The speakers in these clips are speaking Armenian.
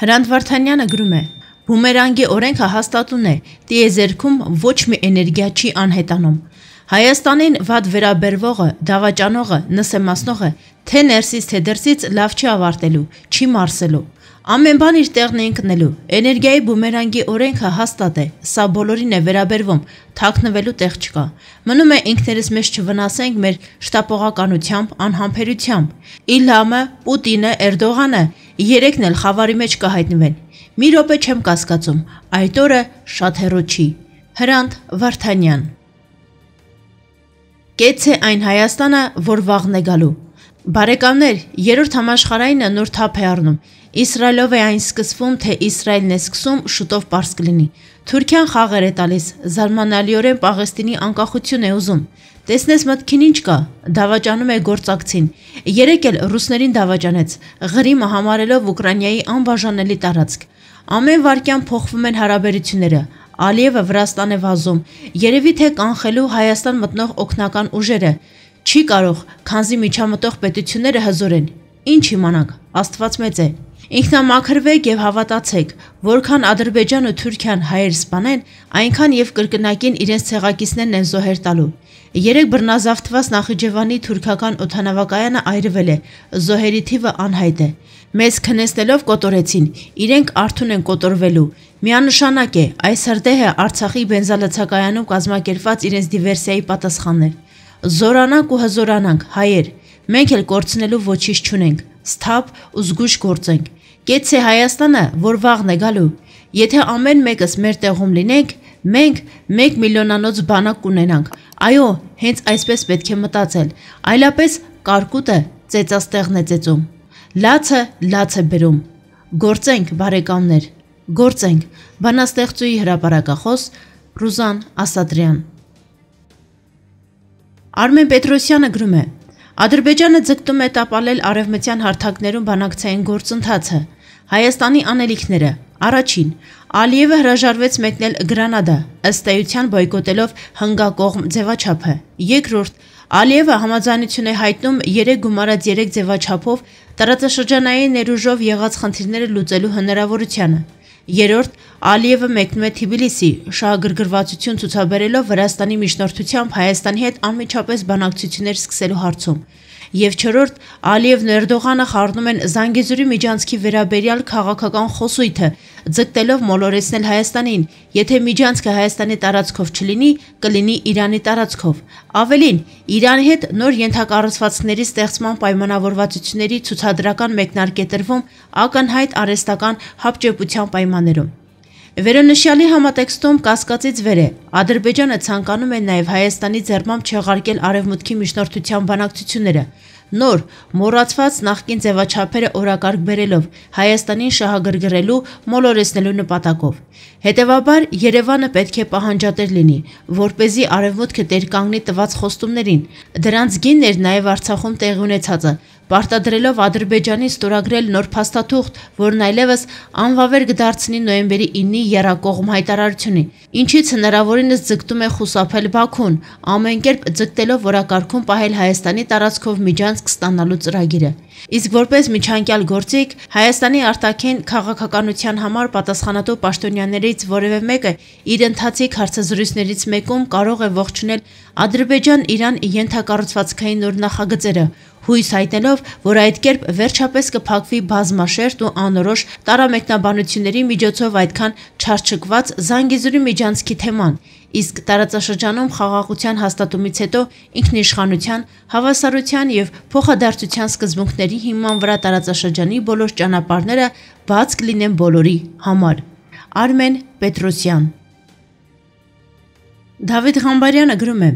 Հրանտ Վարդանյանը գրում է. «Բումերանգի օրենքը հաստատուն է, տիեզերքում ոչ մի էներգիա չի անհետանում։ Հայաստանին վատ վերաբերվողը, դավաճանողը, նսեմացնողը, թե ներսից, թե դրսից լավ չի ավարտելու, չի մարսելու։ Ամեն բան իր տեղն է ընկնելու։ Էներգիայի բումերանգի օրենքը հաստատ է, սա բոլորին է վերաբերվում, թաքնվելու տեղ չկա։ Մնում է ինքներս մեզ չվնասենք մեր շտապողականությամբ, անհամբերությամբ։ Իլհամը, Պուտինը, Էրդողանը երեքն էլ խավարի մեջ կհայտնվեն։ Մի րոպե չեմ կասկածում, այդ օրը շատ հեռու չի»։ Հրանտ Վարդանյան։ Կեցցե այն Հայաստանը, որ վաղն է գալու։ Բարեկամներ, երրորդ համաշխարհայինը նոր թափ է առնում։ Իսրայելով է այն սկսվում, թե Իսրայելն է սկսում, շուտով պարզ կլինի։ Թուրքիան խաղեր է տալիս, զարմանալիորեն Պաղեստինի անկախություն է ուզում։ Տեսնես մտքին ինչ կա, դավաճանում է գործակցին։ Երեկ էլ ռուսներին դավաճանեց, Ղրիմը համարելով Ուկրաինայի անբաժանելի տարածք։ Ամեն վայրկյան փոխվում են հարաբերությունները։ Ալիևը Վրաստան է վազում, երևի թե կանխելու Հայաստան մտնող օգնական ուժերը։ Չի կարող, քանզի միջամտող պետությունները հզոր են։ Ինչ իմանանք, Աստված մեծ է։ Ինքնամաքրվեք եւ հավատացեք, որքան Ադրբեջանը ու Թուրքիան հայեր սպանեն, այնքան եւ կրկնակին իրենց ցեղակիցներն են զոհեր տալու։ Երեք բռնազավթված Նախիջևանի թուրքական օդանավակայանը այրվել է, զոհերի թիվը անհայտ է։ Մեզ քնեցնելով կոտորեցին, իրենք արթուն են կոտորվելու։ Միանշանակ է, այս հրդեհը Արցախի բենզալցակայանում կազմակերպված իրենց դիվերսիայի պատասխանն էր։ Զորանանք ու հզորանանք, հայեր, մենք էլ կորցնելու ոչինչ չունենք, սթափ ու զգույշ գործենք։ Կեցցե Հայաստանը, որ վաղն է գալու։ Եթե ամեն մեկս մեր տեղում լինենք, մենք 1 միլիոնանոց բանակ կունենանք։ Այո, հենց այսպես պետք է մտածել, այլապես կարկուտը ծեծաստեղն է ծեծում։ Լացը լաց է բերում։ Գործենք, բարեկամներ, գործենք։ Բանաստեղծուի հրապարակախոս Ռուզան Ասատրյան։ Արմեն Պետրոսյանը գրում է. Ադրբեջանը ձգտում է տապալել արևմտյան հարթակներում բանակցային գործընթացը։ Հայաստանի անելիքները. Առաջին, Ալիևը հրաժարվեց մեկնել Գրանադա, ըստ էության բոյկոտելով հնգակողմ ձևաչափը։ Երկրորդ, Ալիևը համաձայնություն է հայտնում 3 գումարած 3 ձևաչափով տարածաշրջանային ներուժով եղած խնդիրները լուծելու հնարավորությանը։ Երրորդ, Ալիևը մեկնում է Թբիլիսի, շահագրգռվածություն ցուցաբերելով Վրաստանի միջնորդությամբ Հայաստանի հետ անմիջապես բանակցություններ սկսելու հարցում։ Եվ չորրորդ, Ալիևն ու Էրդողանը խառնում են Զանգեզուրի միջանցքի վերաբերյալ քաղաքական խոսույթը, ձգտելով մոլորեցնել Հայաստանին, եթե միջանցքը Հայաստանի տարածքով չլինի, կլինի Իրանի տարածքով։ Ավելին, Իրանի հետ նոր ենթակառուցվածքների ստեղծման պայմանավորվածությունների ցուցադրական մեկնարկ է տրվում ակնհայտ արհեստական հապճեպության պայմաններում։ Վերոնշյալի համատեքստում կասկածից վեր է, Ադրբեջանը ցանկանում է նաև Հայաստանի ձեռամբ չեղարկել արևմուտքի միջնորդության բանակցությունները, նոր, մոռացված նախկին ձևաչափերը օրակարգ բերելով Հայաստանին շահագրգռելու, մոլորեցնելու նպատակով։ Հետևաբար Երևանը պետք է պահանջատեր լինի, որպեսզի արևմուտքը տեր կանգնի տված խոստումներին։ Դրանց գինն էր նաև Արցախում տեղի ունեցածը, պարտադրելով Ադրբեջանին ստորագրել նոր փաստաթուղթ, որն այլևս անվավեր կդարձնի նոյեմբերի 9-ի եռակողմ հայտարարությունի, ինչից հնարավորինս ձգտում է խուսափել Բաքուն, ամեն կերպ ձգտելով որակարգում պահել Հայաստանի տարածքով միջանցք ստանալու ծրագիրը։ Իսկ որպես միջանկյալ գործիք, Հայաստանի արտաքին քաղաքականության համար պատասխանատու պաշտոնյաներից որևէ մեկը իր ընթացիկ հարցազրույցներից մեկում կարող է ողջունել Ադրբեջան-Իրան ենթակառուցվածքային նոր նախագծերը, հույս հայտնելով, որ այդ կերպ վերջապես կփակվի բազմաշերտ ու անորոշ տարամեկնաբանությունների միջոցով այդքան չարչկված Զանգեզուրի միջանցքի թեման, իսկ տարածաշրջանում խաղաղության հաստատումից հետո ինքնիշխանության, հավասարության և փոխադարձության սկզբունքների հիման վրա տարածաշրջանի բոլոր ճանապարհները բաց կլինեն բոլորի համար։ Արմեն Պետրոսյան։ Դավիթ Ղամբարյանը գրում է.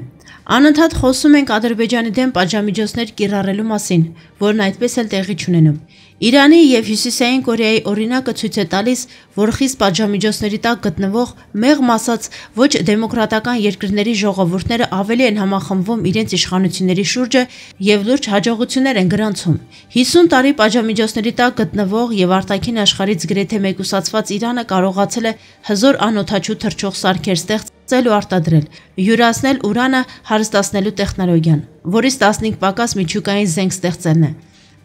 Անընդհատ խոսում ենք Ադրբեջանի դեմ պատժամիջոցներ կիրառելու մասին, որն այդպես էլ տեղի չունենում։ Իրանի և Հյուսիսային Կորեայի օրինակը ցույց է տալիս, որ խիստ պատժամիջոցների տակ գտնվող, մեղմ ասած, ոչ դեմոկրատական երկրների ժողովուրդները ավելի են համախմբվում իրենց իշխանությունների շուրջը և լուրջ հաջողություններ են գրանցում։ 50 տարի պատժամիջոցների տակ գտնվող և արտաքին աշխարհից գրեթե մեկուսացված Իրանը կարողացել է հզոր անօդաչու թռչող սարքեր ստեղծել ու արտադրել, յուրացնել ուրանը հարստացնելու տեխնոլոգիան, որից 15 պակաս միջուկային զենք ստեղծելն է։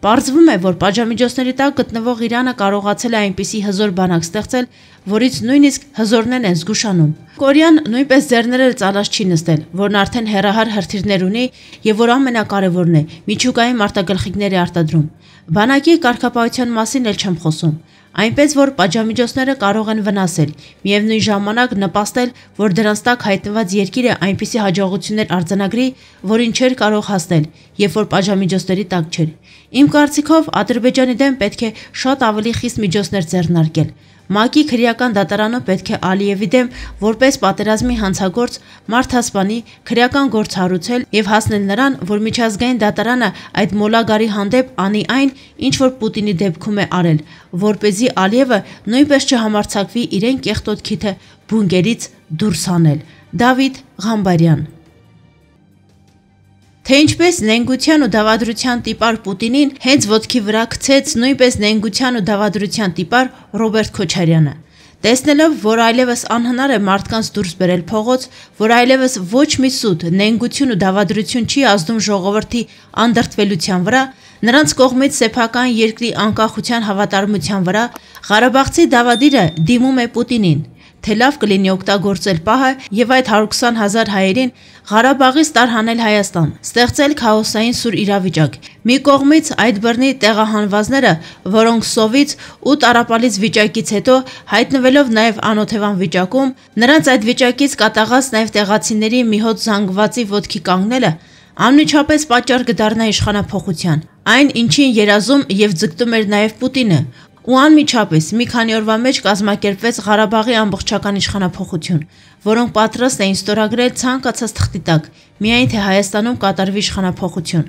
Պարզվում է, որ պատժամիջոցների տակ գտնվող Իրանը կարողացել է այնպիսի հզոր բանակ ստեղծել, որից նույնիսկ հզորներն են զգուշանում։ Կորեան նույնպես ձեռները ծալած չի նստել, որն արդեն հեռահար հրթիռներ ունի եւ որ ամենակարևորն է՝ միջուկային մարտագլխիկներ է արտադրում։ Բանակի կարգապահության մասին էլ չեմ խոսում։ Այնպես որ պատժամիջոցները կարող են վնասել, միևնույն ժամանակ նպաստել, որ դրանց տակ հայտնված երկիրը այնպիսի հաջողություններ արձանագրի, որին չէր կարող հասնել, երբ որ պատժամիջոցների տակ չէր։ Իմ կարծիքով Ադրբեջանի դեմ պետք է շատ ավելի խիստ միջոցներ ձեռնարկել։ ՄԱԿ-ի քրեական դատարանը պետք է Ալիևի դեմ որպես պատերազմի հանցագործ մարդասպանի քրեական գործ հարուցել եւ հասնել նրան, որ միջազգային դատարանը այդ մոլագարի հանդեպ անի այն, ինչ որ Պուտինի դեպքում է արել, որպեսզի Ալիևը նույնպես չհամարձակվի իրեն կեղտոտ քիթը բունկերից դուրս հանել։ Դավիթ Ղամբարյան։ Թե ինչպես նենգության ու դավադրության տիպար Պուտինին հենց ոտքի վրա գցեց նույնպես նենգության ու դավադրության տիպար Ռոբերտ Քոչարյանը։ Տեսնելով, որ այլևս անհնար է մարդկանց դուրս բերել փողոց, որ այլևս ոչ մի սուտ նենգություն ու դավադրություն չի ազդում ժողովրդի անդրդվելության վրա, նրանց կողմից սեփական երկրի անկախության հավատարմության վրա, Ղարաբաղցի դավադիրը դիմում է Պուտինին, թե լավ կլինի օգտագործել պահը եւ այդ 120,000 հայերին Ղարաբաղից տարհանել Հայաստան, ստեղծել քաոսային սուր իրավիճակ։ Մի կողմից այդ բռնի տեղահանվածները, որոնք սովից ու տառապալից վիճակից հետո հայտնվելով նաեւ անօթևան վիճակում, նրանց այդ վիճակից կատաղած նաեւ տեղացիների մի հոտ զանգվածի ոտքի կանգնելը անմիջապես պատճառ կդառնա իշխանափոխության։ Այն, ինչին երազում եւ ձգտում էր նաեւ Պուտինը, ու անմիջապես մի քանի օրվա մեջ կազմակերպվեց Ղարաբաղի ամբողջական իշխանափոխություն, որոնք պատրաստ էին ստորագրել ցանկացած թղթի տակ, միայն թե Հայաստանում կատարվի իշխանափոխություն։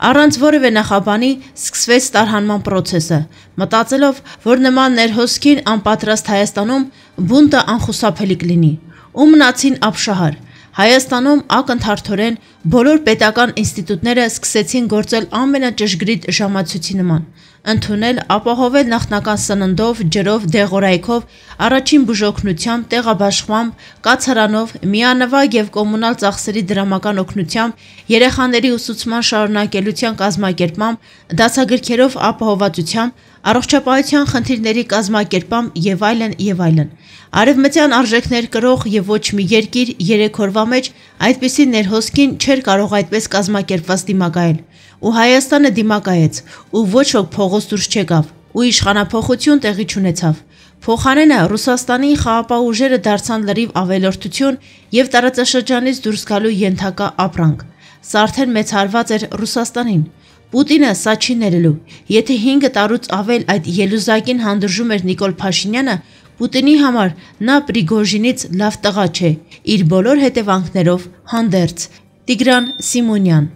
Առանց որևէ նախաբանի սկսվեց տարհանման պրոցեսը, մտածելով, որ նման ներհոսքին անպատրաստ Հայաստանում բունտը անխուսափելի կլինի։ Ու մնացին ապշահար։ Հայաստանում ակնթարթորեն բոլոր պետական ինստիտուտները սկսեցին գործել ամենաճշգրիտ ժամացույցի նման, ընդունել, ապահովել նախնական սննդով, ջրով, դեղորայքով, առաջին բուժօգնությամբ, տեղաբաշխմամբ, կացարանով, միանվագ եւ կոմունալ ծախսերի դրամական օգնությամբ, երեխաների ուսուցման շարունակելության կազմակերպմամբ, դասագրքերով ապահովվածությամբ, առողջապահության խնդիրների կազմակերպմամբ եւ այլն եւ այլն։ Արևմտյան արժեքներ կրող եւ ոչ մի երկիր 3 օրվա մեջ այդպիսի ներհոսքին չէր կարող այդպես կազմակերպված դիմակայել, ու Հայաստանը դիմակայեց, ու ոչ ոք փողոց դուրս չեկավ, ու իշխանափոխություն տեղի չունեցավ։ Փոխարենը Ռուսաստանի խաղաղապահ ուժերը դարձան լրիվ ավելորդություն եւ տարածաշրջանից դուրս գալու ենթակա ապրանք։ Սա արդեն մեծ հարված էր Ռուսաստանին։ Պուտինը սա չի ներելու։ Եթե 5 տարուց ավել այդ ելուզակին հանդուրժում էր Նիկոլ Փաշինյանը, Պուտինի համար նա Պրիգոժինից լավ տղա չէ, իր բոլոր հետևանքներով հանդերձ։ Տիգրան Սիմոնյան։